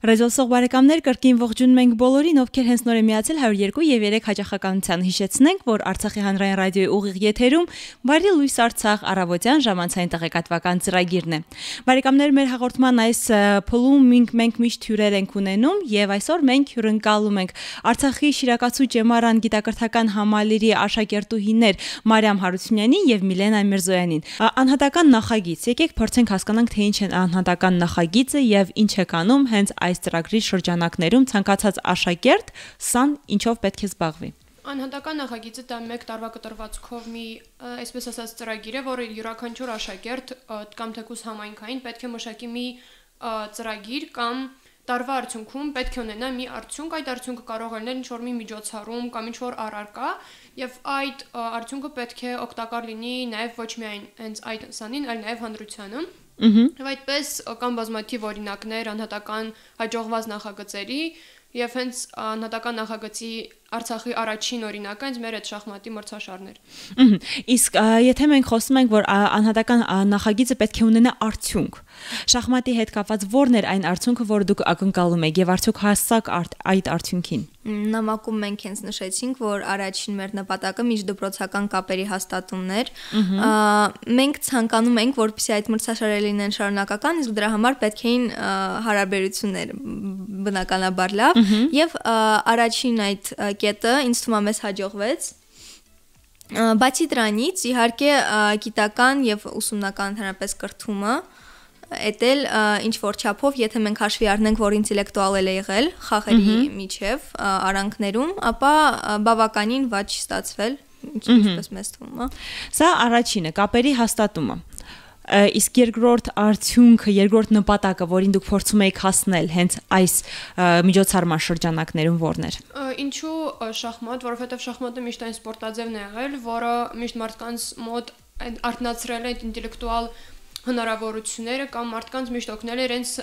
Ռեզոլսող բարեկամներ կրկին ողջունում ենք բոլորին, ովքեր հենց նոր են միացել 102 եւ 3 հաճախականության հիշեցնենք, որ Արցախի հանրային ռադիոյի ուղիղ եթերում Բարի լույս Արցախ առավոտյան ժամանցային տեղեկատվական ծրագիրն է։ Բարեկամներ, մեր հաղորդման այս փուլում մենք միշտ հյուրեր ենք ունենում եւ այսօր մենք հյուրընկալում ենք Արցախի Շիրակացու Ճեմարան գիտակրթական համալիրի աշակերտուհիներ Մարիամ Հարությունյանին եւ Միլենա Միրզոյանին։ Անհատական նախագիծ։ Եկեք փորձենք հասկանանք, թե ինչ է անհատական նախագիծը եւ ինչ է կանում հենց այս ծրագրի շրջանակներում ցանկացած աշակերտ սան ինչով պետք է զբաղվի։ Անհատական նախագիծը դա 1 տարվա կտրվածքով մի, այսպես ասած, ծրագիր է, որը յուրաքանչյուր աշակերտ կամ թեկուզ համայնքային պետք է մշակի մի ծրագիր կամ տարվա արդյունքում պետք է ունենա մի արդյունք, այդ արդյունքը կարող է լինել ինչ-որ մի միջոցառում կամ ինչ-որ առարկա, եւ այդ արդյունքը պետք է օգտակար լինի նաեւ ոչ միայն հենց այդ սանին, այլ նաեւ հանրությանը։ Եվ այդպես կան բազմաթիվ օրինակներ անհատական հաջողված նախագծերի եւ հենց անհատական նախագծի Արցախի առաջին օրինակը հենց մեր այդ շախմատի մրցաշարն էր։ Իսկ եթե մենք խոսում ենք, որ անհատական նախագիծը պետք է ունենա արդյունք, շախմատի հետ կապված ո՞րն էր այն արդյունքը, որը դուք ակնկալում եք եւ արդյոք հասցաք այդ արդյունքին։ Նամակում մենք հենց նշեցինք, որ առաջին մեր նպատակը միջդպրոցական կապերի հաստատումն էր։ Մենք ցանկանում ենք, որպեսզի այդ մրցաշարերը լինեն շարունակական, իսկ դրա համար պետք էին հարաբերություններ բնականաբար լավ եւ առաջին այդ կետը ինձ թվում է մեզ հաջողվեց։ Բացի դրանից, իհարկե գիտական եւ ուսումնական ընդհանրապես կրթումը էտել ինչ որ չափով, եթե մենք հաշվի առնենք, որ ինտելեկտուալ է եղել խաղերի միջև արանքներում, ապա բավականին վատ չի ստացվել, ինչպես մեզ թվում է։ Սա առաջինը, կապերի հաստատումը։ Իսկ երկրորդ արդյունքը, երկրորդ նպատակը, որին դուք փորձում եք հասնել հենց այս միջոցառման շրջանակներում ո՞րն էր։ Ինչու շախմատ, որովհետև շախմատը միշտ այն սպորտաձևն է եղել, որը միշտ մարդկանց մոտ արթնացրել է ինտելեկտուալ հնարավորությունները կամ մարդկանց միշտ օգնել է իրենց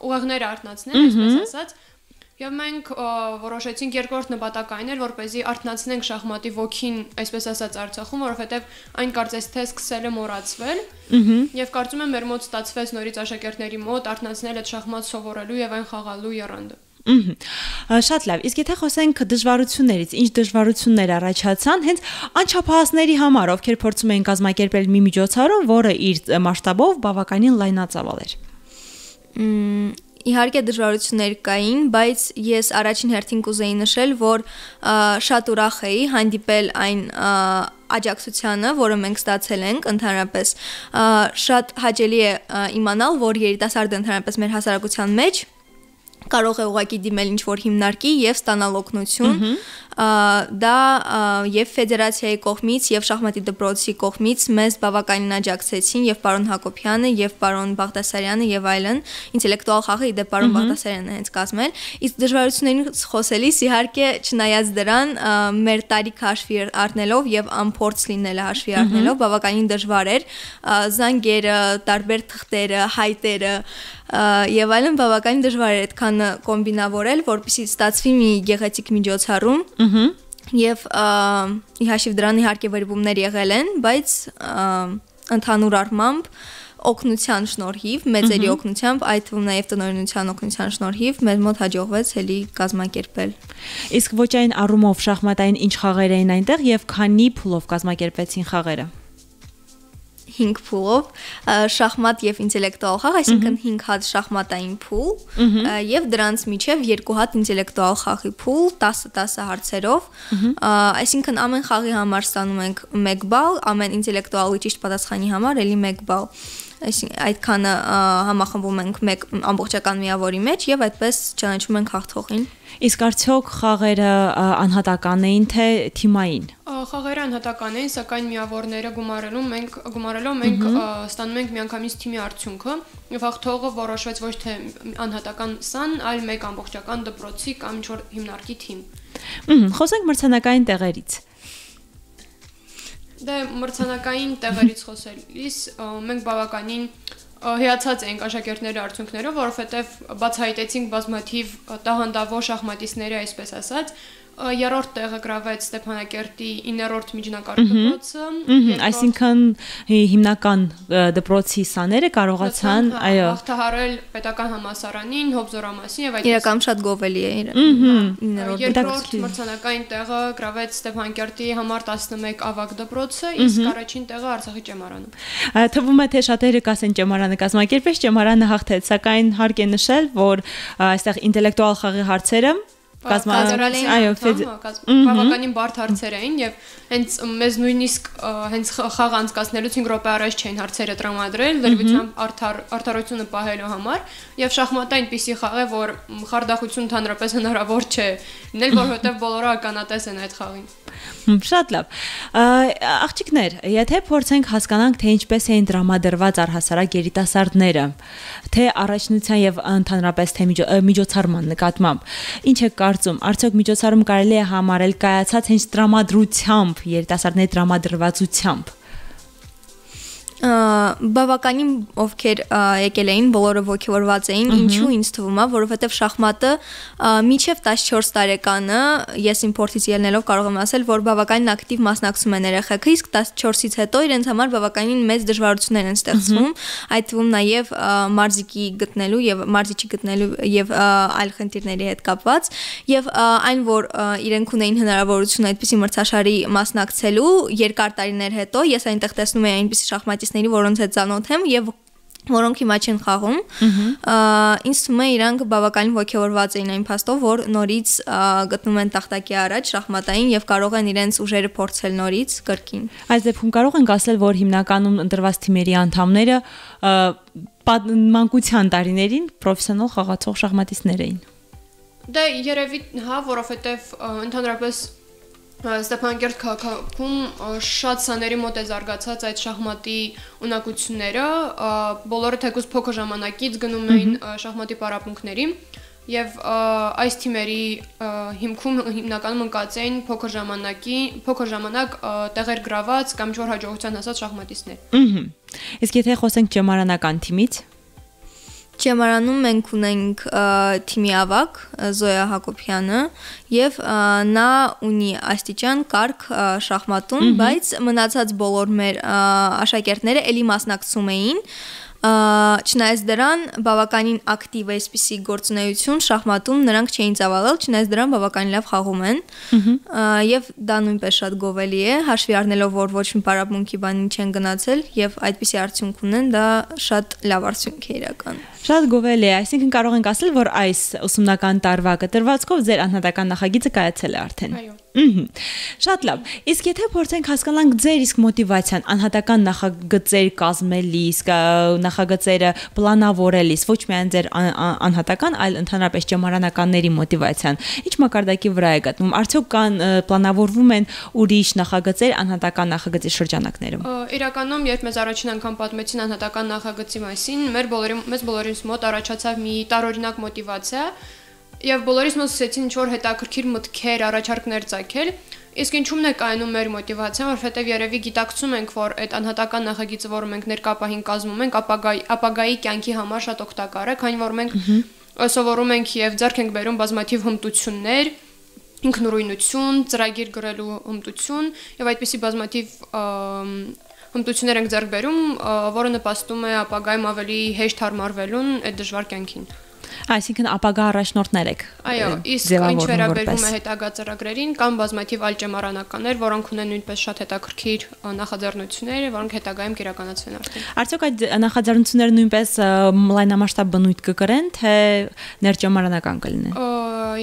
ուղեղները արթնացնել, այսպես ասած։ Եվ մենք որոշեցինք երկրորդ նպատակը այն էր, որպեսզի արթնացնենք շախմատի ոգին, այսպես ասած, Արցախում, որովհետև այն կարծես թե սկսել է մոռացվել, եւ կարծում եմ մեր մոտ ստացվեց նորից աշակերտների մոտ արթնացնել այդ շախմատ սովորելու եւ այն խաղալու եռանդը։ Շատ լավ, իսկ եթե խոսենք դժվարություններից, ինչ դժվարություններ առաջացան հենց անչափահասների համար, ովքեր փորձում էին կազմակերպել մի միջոցառում, որը իր մասշտաբով բավականին լայնածավալ էր։ Իհարկե դժվարություններ կային, բայց ես առաջին հերթին կուզեի նշել, որ շատ ուրախ էի հանդիպել այն աջակցությանը, որը մենք ստացել ենք ընդհանրապես։ Շատ հաճելի է իմանալ, որ երիտասարդը ընդհանրապես մեր հասարակության մեջ կարող է ուղղակի դիմել ինչ-որ հիմնարկի եւ ստանալ օգնություն, դա եւ ֆեդերացիայի կողմից եւ շախմատի դպրոցի կողմից մեզ բավականին աջակցեցին եւ պարոն Հակոբյանը եւ պարոն Բաղդասարյանը եւ այլն, ինտելեկտուալ խաղը իդե պարոն Բաղդասարյանը հենց կազմել, իսկ դժվարություններից խոսելիս իհարկե չնայած դրան մեր տարիքը հաշվի առնելով եւ անփորձ լինելը հաշվի առնելով բավականին դժվար էր, զանգերը, տարբեր թղթերը, հայտերը եւ այլն բավականին դժվար էր այդքան կոմբինավորել, որպեսզի ստացվի մի գեղեցիկ միջոցառում եւ ի հաշիվ դրան իհարկե վերբումներ եղել են, բայց ընդհանուր առմամբ օգնության շնորհիվ, մեծերի օգնությամբ, այդ թվում նաեւ տնօրինության օգնության շնորհիվ մեզ մոտ հաջողվեց էլի կազմակերպել։ Իսկ ոչ այն առումով շախմատային ինչ խաղեր էին այնտեղ եւ քանի փուլով կազմակերպեցին խաղերը։ 5 փուլով շախմատ եւ ինտելեկտուալ խաղ, այսինքն 5 հատ շախմատային փուլ եւ դրանց միջև 2 հատ ինտելեկտուալ խաղի փուլ 10 հարցերով, այսինքն ամեն խաղի համար ստանում ենք 1 բալ, ամեն ինտելեկտուալի ճիշտ պատասխանի համար էլի 1 բալ։ Այսինքն այդքանը համախմբում ենք մեկ ամբողջական միավորի մեջ եւ այդպես ճանաչում ենք հաղթողին։ Իսկ արդյոք խաղերը անհատական էին թե թիմային։ Խաղերը անհատական էին, սակայն միավորները գումարելով մենք ստանում ենք միանգամից թիմի արդյունքը եւ հաղթողը որոշվեց ոչ թե անհատական սան, այլ մեկ ամբողջական դպրոցի կամ ինչ-որ հիմնարկի թիմ։ Խոսենք մրցանակային տեղերից։ Դե մրցանակային տեղերից խոսելիս մենք բավականին հիացած ենք աշակերտների արդյունքներով, որովհետև բացահայտեցինք բազմաթիվ տաղանդավոր շախմատիստների, այսպես ասած, երրորդ տեղը գրավեց Ստեփանակերտի 9-րդ միջնակարգ դպրոցը։ Այսինքն հիմնական դպրոցի սաները կարողացան, այո, հաղթահարել պետական համալսարանին, Հոբզորամասին եւ այդ իրական շատ գովելի է։ Երկրորդ մրցանակային տեղը գրավեց Ստեփանակերտի համար 11 ավագ դպրոցը, իսկ առաջին տեղը Արցախի ճեմարանում։ Թվում է թե շատերը կասեն ճեմարանը կազմակերպեց, ճեմարանը հաղթեց, սակայն հարկ է նշել, որ այստեղ ինտելեկտուալ խաղի հարցերը բավականին բարդ հարցեր էին եւ հենց մեզ նույնիսկ հենց խաղ անցկացնելուց 5 րոպե առաջ չէին հարցերը տրամադրել լրիվությամբ արդարությունը պահելու համար եւ շախմատը այնպիսի խաղ է որ խարդախություն ընդհանրապես հնարավոր չէ լինել որովհետեւ բոլորը ականատես են այդ խաղին։ Շատ լավ։ Աղջիկներ, եթե փորձենք հասկանանք թե ինչպես էին տրամադրված առհասարակ երիտասարդները, թե առաջնության եւ ընդհանրապես թե միջոցառման նկատմամբ, ինչ է կարծում, արդյոք միջոցառում կարելի է համարել կայացած հենց տրամադրությամբ, երիտասարդների տրամադրվածությամբ։ Բավականին ովքեր եկել էին, բոլորը ոգևորված էին, ինչու ինձ թվում է, որովհետև շախմատը մինչև 14 տարեկանը ես իմ փորձից ելնելով կարող եմ ասել, որ բավականին ակտիվ մասնակցում են երեխեքը, իսկ 14-ից հետո իրենց համար բավականին մեծ դժվարություններ են ստեղծվում, այդ թվում նաև մարզիկի գտնելու եւ մարզիչի գտնելու եւ այլ խնդիրների հետ կապված, եւ այն որ իրենք ունեին հնարավորություն այդպիսի մրցաշարի մասնակցելու երկար տարիներ հետո, ես այնտեղ տեսնում եմ այնպիսի շախմատիստների, որոնց հետ ծանոթ եմ եւ որոնք հիմա չեն խաղում, ինձ թվում է իրանք բավականին ոգևորված էին այն փաստով, որ նորից գտնում են տախտակի առաջ շախմատային եւ կարող են իրենց ուժերը փորձել նորից կրկին։ Այս դեպքում կարող ենք ասել, որ հիմնականում ընտրված թիմերի անդամները մանկության տարիներին պրոֆեսիոնալ խաղացող շախմատիստներ էին։ Դե երևի հա, որովհետեւ ընդհանրապես Ստեփանակերտ քաղաքում շատ սաների մոտ է զարգացած այդ շախմատի ունակությունները, բոլորը թեկուզ փոքր ժամանակից գնում էին շախմատի պարապմունքների եւ այս թիմերի հիմքում հիմնականում ընկած էին փոքր ժամանակ տեղեր գրաված կամ չոր հաջողության հասած շախմատիստներ։ Իսկ եթե խոսենք ճեմարանական թիմից, Ճեմարանում մենք ունենք թիմի ավագ Զոյա Հակոբյանը եւ նա ունի աստիճան կարգ շախմատում, բայց մնացած բոլոր մեր աշակերտները էլի մասնակցում էին Չնայած դրան բավականին ակտիվ է այսպիսի գործունեություն շախմատում նրանք չէին ծավալել, չնայած դրան բավականին լավ խաղում են եւ դա նույնպես շատ գովելի է, հաշվի առնելով որ ոչ մի պարապմունքի բանին չեն գնացել եւ այդպիսի արդյունք ունեն, դա շատ լավ արդյունք է իրական։ Շատ գովելի է, այսինքն կարող ենք ասել, որ այս ուսումնական տարվա կտրվածքով ձեր անհատական նախագիծը կայացել է արդեն։ Այո։ Շատ լավ։ Իսկ եթե փորձենք հասկանանք ձեր իսկ մոտիվացիան անհատական նախագծեր կազմելիս, նախագծերը պլանավորելիս, ոչ միայն ձեր անհատական, այլ ընդհանրապես ճեմարանականների մոտիվացիան, ինչ մակարդակի վրա է գտնվում, արդյոք կան պլանավորվում են ուրիշ նախագծեր անհատական նախագծի շրջանակներում։ Իրականում, երբ մեզ առաջին անգամ պատմեցին անհատական նախագծի մասին, մեզ բոլորիս մոտ առաջացավ մի տարօրինակ մոտիվացիա եւ բոլորիս մոտ սկսեցին ինչ-որ հետաքրքիր մտքեր, առաջարկներ ծագել, իսկ ինչու՞մն է կայանում մեր մոտիվացիան, որովհետեւ երևի գիտակցում ենք, որ այդ անհատական նախագիծը, որը մենք ներկապահին կազմում ենք, ապագայի կյանքի համար շատ օգտակար է, քանի որ մենք սովորում ենք եւ ձեռք ենք բերում բազմաթիվ հմտություններ, ինքնուրույնություն, ծրագիր գրելու հմտություն եւ այդպիսի բազմաթիվ հմտություններ ենք ձեռք բերում, որը նպաստում է ապագայում ավելի հեշտ հարմարվելուն այդ դժվար կյանքին։ Այսինքն ապագա առաջնորդներ եք։ Այո, իսկ ինչ վերաբերում է հետագա ծրագրերին, կան բազմաթիվ այլ ճեմարանականներ, որոնք ունեն նույնպես շատ հետաքրքիր նախաձեռնություններ, որոնք հետագայում կիրականացվեն արդեն։ Արդյոք այդ նախաձեռնությունները նույնպես լայնամասշտաբ բնույթ կկրեն, թե ներճեմարանական կլինեն։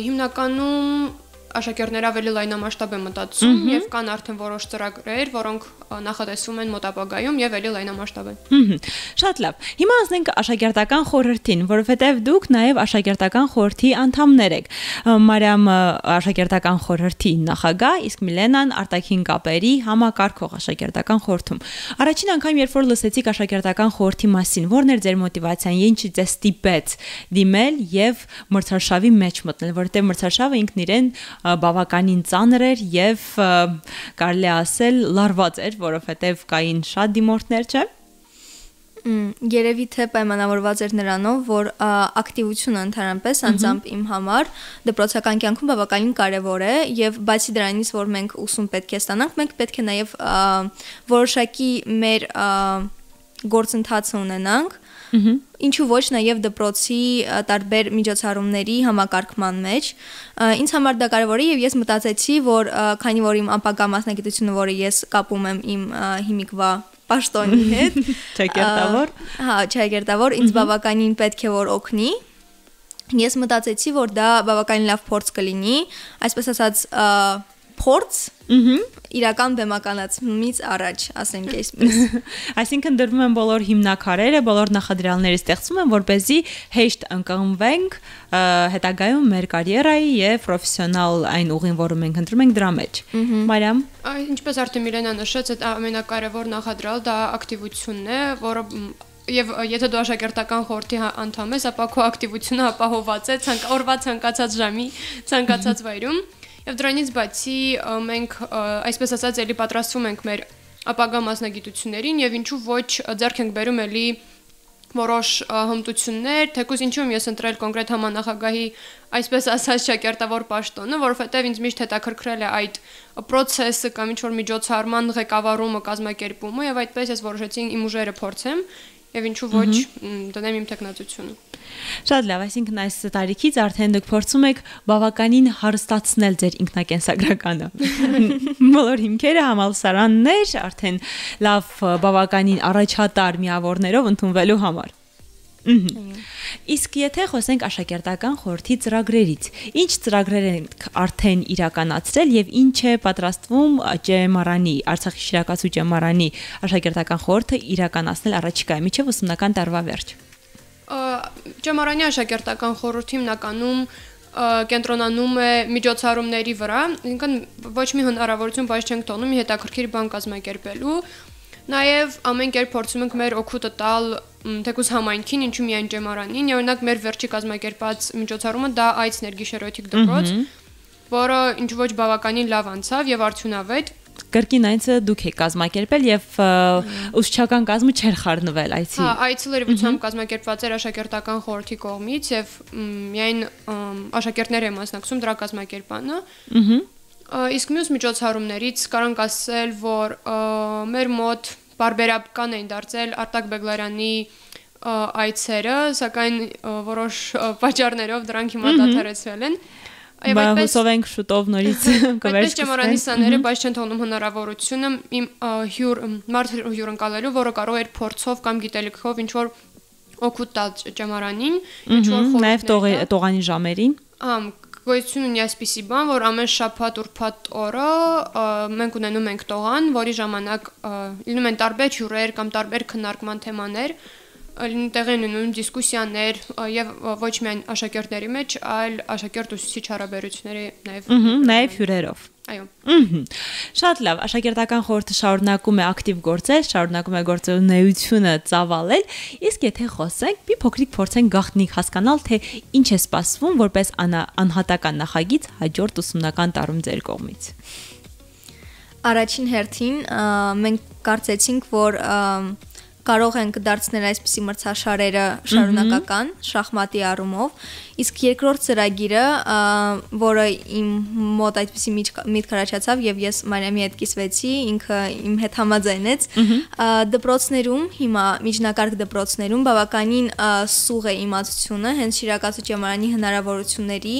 Հիմնականում աշակերտները ավելի լայնամասշտաբ են մտածում եւ կան արդեն որոշ ծրագրեր, որոնք նախատեսվում են մոտ ապագայում եւ ավելի լայնամասշտաբ են։ Շատ լավ։ Հիմա անցնենք աշակերտական խորհրդին, որովհետեւ դուք նաեւ աշակերտական խորհրդի անդամներ եք։ Մարիամը աշակերտական խորհրդի նախագահ, իսկ Միլենան արտաքին կապերի համակարգող աշակերտական խորհրդում։ Առաջին անգամ երբ որ լսեցիք աշակերտական խորհրդի մասին, ո՞րն էր ձեր մոտիվացիան, ինչի ձեզ ստիպեց դիմել եւ մրցարշավի մեջ մտնել, որովհետեւ մրցարշավը ինքն իրեն բավականին ծանր էր եւ կարելի ասել լարված էր, որովհետեւ կային շատ դիմորդներ, չէ՞։ Երևի թե պայմանավորված էր նրանով, որ ակտիվությունը ընդհանրապես անձամբ իմ համար դպրոցական կյանքում բավականին կարևոր է եւ բացի դրանից, որ մենք ուսում պետք է ստանանք, մենք պետք է նաեւ որոշակի մեր գործընթացը ունենանք, ինչու ոչ նաեւ դպրոցի տարբեր միջոցառումների համակարգման մեջ։ Ինձ համար դա կարևոր է եւ ես մտածեցի, որ քանի որ իմ ապագա մասնագիտությունը, որը ես կապում եմ իմ հիմիկվա պաշտոնի հետ, ճակերտավոր, ինձ բավականին պետք է որ օգնի։ Ես մտածեցի, որ դա բավականին լավ փորձ կլինի, այսպես ասած փորձ իրական բեմականացումից առաջ, ասենք այսպես։ Այսինքն դրվում են բոլոր հիմնակարերը, բոլոր նախադրյալները ստեղծվում են, որպեսզի հեշտ ընկղմվենք հետագայում մեր կարիերայի եւ պրոֆեսիոնալ այն ուղին, որը մենք ընտրում ենք դրա մեջ։ Մարիամ, ինչպես արդեն Միլենան նշեց, այդ ամենակարևոր նախադրյալ դա ակտիվությունն է, որը Եվ եթե դու աշակերտական խորհրդի անդամ ես, ապա քո ակտիվությունը ապահոված է օրվա ցանկացած ժամի, ցանկացած վայրում։ Եվ դրանից բացի մենք այսպես ասած էլի պատրաստվում ենք մեր ապագա մասնագիտություններին եւ ինչու ոչ ձեռք ենք բերում էլի որոշ հմտություններ, թեկուզ ինչու ես ընտրել կոնկրետ համանախագահի այսպես ասած ճակերտավոր պաշտոնը, որովհետեւ ինձ միշտ հետաքրքրել է այդ process-ը կամ ինչ-որ միջոցառման ղեկավարումը, կազմակերպումը եւ այդպես ես որոշեցի իմ ուժերը փորձեմ եւ ինչու ոչ դնեմ իմ տեխնացությունը։ Շատ լավ, այսինքն այս տարիքից արդեն դուք փորձում եք բավականին հարստացնել ձեր ինքնակենսագրականը։ Բոլոր հիմքերը համալսարաններ արդեն լավ բավականին առաջատար միավորներով ընդունվելու համար։ Իսկ եթե խոսենք աշակերտական խորհրդի ծրագրերից, ինչ ծրագրեր եք արդեն իրականացրել եւ ինչ է պատրաստվում ՃՄՌ-ի, Արցախի շիրակացու ՃՄՌ-ի աշակերտական խորհուրդը իրականացնել առաջիկայում, մինչեւ ուսումնական տարվա վերջ։ ՃՄՌ-ի աշակերտական խորհուրդը հիմնականում կենտրոնանում է միջոցառումների վրա, ինքն ոչ մի հնարավորություն բաց չենք թողնում հետաքրքիր բան կազմակերպելու։ Նաև ամեն կերպ փորձում ենք մեր օգուտը տալ թեկուզ համայնքին, ինչու միայն ՃՄՌ-ին, օրինակ մեր վերջի կազմակերպած միջոցառումը դա այց ներգիշերոթիկ դպրոց, որը ինչ ոչ բավականին լավ անցավ եւ արդյունավետ։ Կրկին այցը դուք եք կազմակերպել եւ ուսուցչական կազմը չէր խառնվել այցի։ Հա, այցը լրիվությամբ կազմակերպված էր աշակերտական խորհրդի կողմից եւ միայն աշակերտներ են մասնակցում դրա կազմակերպանը։ Իսկ մյուս միջոցառումներից կարանք ասել, որ մեր մոտ բարբերական էին դարձել Արտակ Բեգլարյանի այցերը, սակայն որոշ պատճառներով դրանք հիմա դադարեցվել են։ Եվ այդպես հուսով ենք շուտով նորից կվերցնենք։ Ճեմարանի սաները բայց չեն թողնում հնարավորությունը իմ մարդ հյուրընկալելու, որը կարող էր փորձով կամ գիտելիքով ինչ որ օգուտ տալ ճեմարանին, ինչ որ խորհուրդ։ Նաև տողանի ժամերին։ Գոյություն ունի այսպիսի բան, որ ամեն շաբաթ ուրբաթ օրը մենք ունենում ենք տողան, որի ժամանակ լինում են տարբեր հյուրեր կամ տարբեր քննարկման թեմաներ, տեղի ունենում դիսկուսիաներ եւ ոչ միայն աշակերտների մեջ, այլ աշակերտ-ուսուցիչ հարաբերությունների նաեւ հյուրերով։ Այո։ Շատ լավ, աշակերտական խորհուրդը շարունակում է ակտիվ գործել, շարունակում է գործունեությունը ծավալել, իսկ եթե խոսենք, մի փոքրիկ փորձենք գաղտնիք հասկանալ, թե ինչ է սպասվում որպես անհատական նախագիծ հաջորդ ուսումնական տարում ձեր կողմից։ Առաջին հերթին մենք կարծեցինք, որ կարող ենք դարձնել այսպիսի մրցաշարերը շարունակական, շախմատի առումով, իսկ երկրորդ ծրագիրը, որը իմ մոտ այդպիսի միտք առաջացավ եւ ես Մարիամի հետ կիսվեցի, ինքը իմ հետ համաձայնեց, դպրոցներում, հիմա միջնակարգ դպրոցներում բավականին սուղ է իմացությունը հենց շիրակացու ճեմարանի հնարավորությունների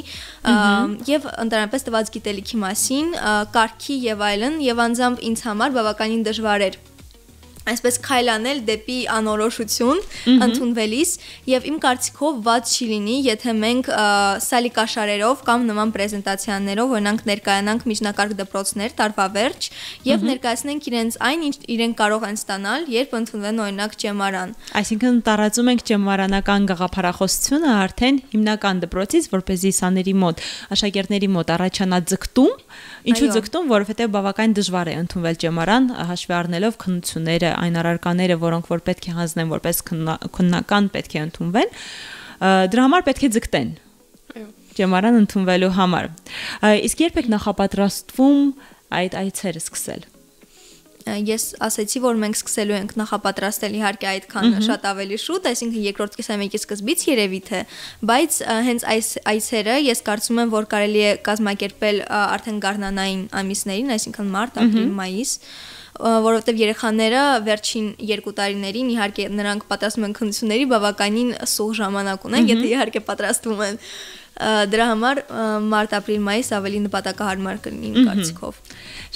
եւ ընդհանրապես տված գիտելիքի մասին, կարգի եւ այլն, եւ անձամբ ինձ համար բավականին դժվար էր այսպես քայլանել դեպի անորոշություն ընդունվելիս եւ իմ կարծիքով ված չի լինի, եթե մենք սալիկաշարերով կամ նման պրեզենտացիաներով օրինակ ներկայանանք միջնակարգ դպրոցներ տարվա վերջ եւ ներկայացնենք իրենց այն, ինչ իրենք կարող են ստանալ, երբ ընդունվեն օրինակ ճեմարան։ Այսինքն տարածում ենք ճեմարանական գաղափարախոսությունը արդեն հիմնական դպրոցից, որպեսզի սաների մոտ, աշակերտների մոտ առաջանա ձգտում, ինչու ձգտում, որովհետեւ բավական դժվար է ընդունվել ճեմարան, հաշվի առնելով քննությունները այն առարկաները, որոնք որ պետք է հանձնեն որպես քննական պետք է ընդունվեն, դրա համար պետք է ձգտեն։ Այո։ Ճեմարան ընդունվելու համար։ Իսկ երբ եք նախապատրաստվում այդ այցերը սկսել։ ես ասացի, որ մենք սկսելու ենք նախապատրաստել իհարկե այդքան շատ ավելի շուտ, այսինքն երկրորդ կիսամյակի սկզբից երևի թե, բայց հենց այս այցերը ես կարծում եմ, որ կարելի է կազմակերպել արդեն գարնանային ամիսներին, այսինքն մարտ, ապրիլ, մայիս, որովհետև երեխաները վերջին 2 տարիներին իհարկե նրանք պատրաստում են քննությունների բավականին սուղ ժամանակ ունեն, եթե իհարկե պատրաստվում են դրա համար մարտ, ապրիլ, մայիս ավելի նպատակահարմար կլինի իմ կարծիքով։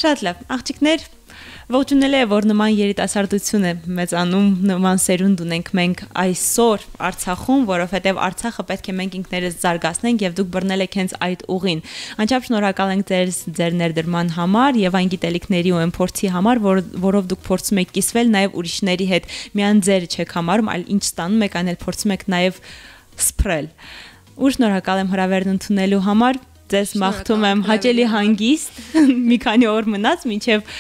Շատ լավ, աղջիկներ, ողջունելի է, որ նման երիտասարդություն է մեծանում, նման սերունդ ունենք մենք այսօր Արցախում, որովհետև Արցախը պետք է մենք ինքներս զարգացնենք եւ դուք բռնել եք հենց այդ ուղին։ Անչափ շնորհակալ ենք ձեր ներդրման համար եւ այն գիտելիքների ու այն փորձի համար, որով դուք փորձում եք կիսվել նաեւ ուրիշների հետ։ Միայն ձերը չեք համարում, այլ ինչ ստանում եք, այն էլ փորձում եք նաեւ սփռել։ Ու շնորհակալ եմ հրավերն ընդունելու համար։ Ձեզ մաղթում եմ հաճելի հանգիստ, մի քանի օր մնաց, մինչև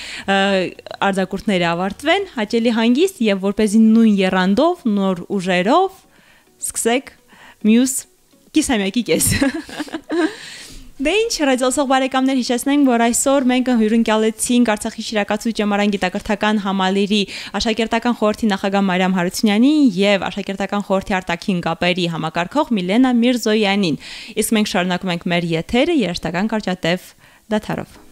արձակուրդները ավարտվեն, հաճելի հանգիստ եւ որպեսզի նույն եռանդով, նոր ուժերով սկսեք մյուս կիսամյակի կես։ Դե ինչ, ռադիոսող բարեկամներ, հիշեցնենք, որ այսօր մենք հյուրընկալեցինք Արցախի Շիրակացու ճեմարան գիտակրթական համալիրի աշակերտական խորհրդի նախագահ Մարիամ Հարությունյանին եւ աշակերտական խորհրդի արտաքին կապերի համակարգող Միլենա Միրզոյանին։ Իսկ մենք շարունակում ենք մեր եթերը երաժշտական կարճատև դադարով։